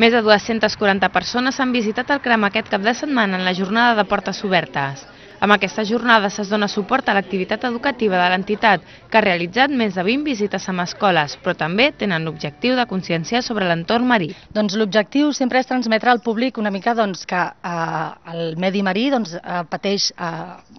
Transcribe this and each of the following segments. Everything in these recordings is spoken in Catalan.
Més de 240 persones han visitat el CRAM aquest cap de setmana en la jornada de portes obertes. Amb aquesta jornada es dona suport a l'activitat educativa de l'entitat, que ha realitzat més de 20 visites amb escoles, però també tenen l'objectiu de conscienciar sobre l'entorn marí. Doncs l'objectiu sempre és transmetre al públic una mica que el medi marí pateix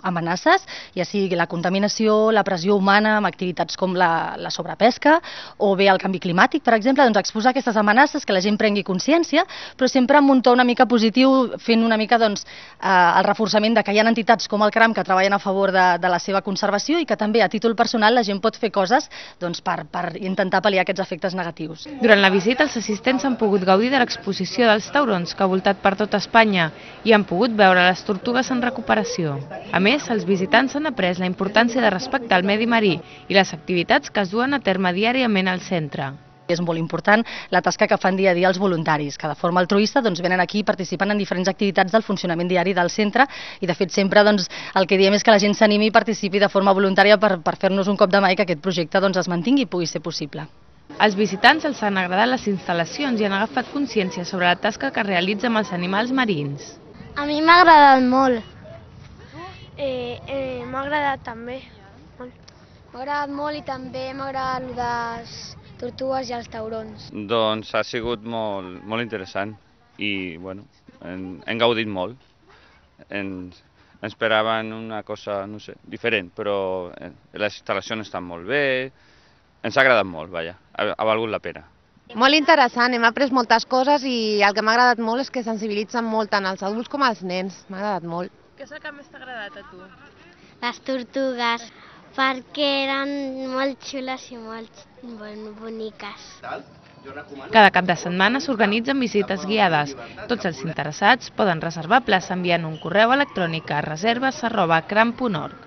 amenaces, ja sigui la contaminació, la pressió humana amb activitats com la sobrepesca o bé el canvi climàtic, per exemple, exposar aquestes amenaces, que la gent prengui consciència, però sempre amb un to una mica positiu, fent una mica el reforçament de que hi ha entitats com el CRAM que treballen a favor de la seva conservació i que també a títol personal la gent pot fer coses per intentar pal·liar aquests efectes negatius. Durant la visita els assistents han pogut gaudir de l'exposició dels taurons que ha voltat per tota Espanya i han pogut veure les tortugues en recuperació. A més, els visitants han après la importància de respectar el medi marí i les activitats que es duen a terme diàriament al centre. És molt important la tasca que fan dia a dia els voluntaris, que de forma altruista venen aquí i participen en diferents activitats del funcionament diari del centre i de fet sempre el que diem és que la gent s'animi i participi de forma voluntària per fer-nos un cop de mà i que aquest projecte es mantingui i pugui ser possible. Als visitants els han agradat les instal·lacions i han agafat consciència sobre la tasca que realitza amb els animals marins. A mi m'ha agradat molt. M'ha agradat també. M'ha agradat molt i també m'ha agradat les tortugues i els taurons. Doncs ha sigut molt interessant i hem gaudit molt. Ens esperaven una cosa, no sé, diferent, però les instal·lacions estan molt bé, ens ha agradat molt, vaja, ha valgut la pena. Molt interessant, hem après moltes coses i el que m'ha agradat molt és que sensibilitzen molt tant els adults com els nens, m'ha agradat molt. Què és el que més t'ha agradat a tu? Les tortugues, perquè eren molt xules i molt boniques. Cada cap de setmana s'organitzen visites guiades. Tots els interessats poden reservar plaça enviant un correu electrònic a reserves@cram.org.